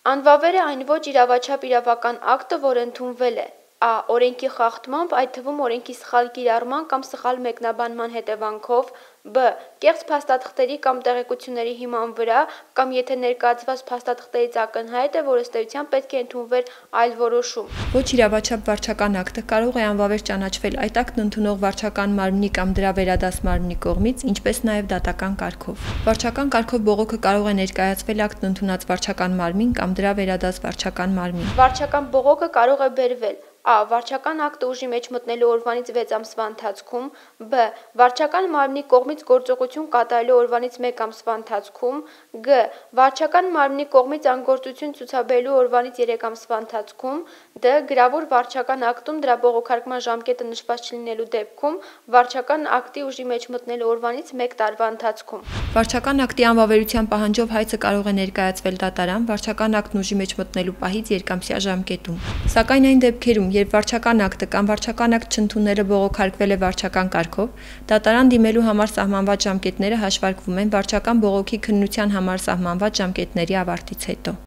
Անվավեր է այն ոչ իրավաչափ իրավական ակտը, որը ընդունվել է a. Օրենքի խախտմամբ, այդ թվում օրենքի սխալ կիրառման կամ սխալ մեկնաբանման հետևանքով, b. Կեղծ փաստաթղթերի կամ տեղեկությունների հիման վրա, կամ եթե ներկայացված փաստաթղթերից ակնհայտ է, որ ըստ էության պետք է ընդունվեր այլ որոշում։ Ոչ իրավաչափ վարչական ակտը կարող է անվավեր ճանաչվել այդ ակտն ընդունող վարչական մարմնի կամ դրա վերադաս մարմնի կողմից, ինչպես նաև դատական կարգով։ Վարչական կարգով բողոքը կարող է ներկայացվել ակտն ընդունած վարչական մարմին կամ դրա վերադաս վարչական մարմին։ Վարչական բողոքը կարող է բերվել a. Վարչական ակտը ուժի մեջ մտնելու օրվանից 6 ամսվա ընթացքում, b. Վարչական մարմնի կողմից գործողություն կատարելու օրվանից 1 ամսվա ընթացքում, g. Վարչական մարմնի կողմից անգործություն ցուցաբերելու օրվանից 3 ամսվա ընթացքում, d. Գրավոր վարչական ակտում դրա բողոքարկման ժամկետը նշված չլինելու դեպքում, վարչական ակտի ուժի մեջ մտնելու օրվանից 1 տարվա ընթացքում։ Վարչական ակտի անվավերության պահանջով հայցը կարող է ներկայացվել դատարան վարչական ակտն ուժի մեջ մտնելու պահից երկամսյա ժամկետում։ Սակայն այն դեպքերում, երբ վարչական ակտը կամ վարչական ակտ չընդունելը բողոքարկվել է վարչական կարգով, դատարան դիմելու համար սահմանված ժամկետները հաշվարկվում են վարչական բողոքի քննության համար սահմանված ժամկետների ավարտից հետո։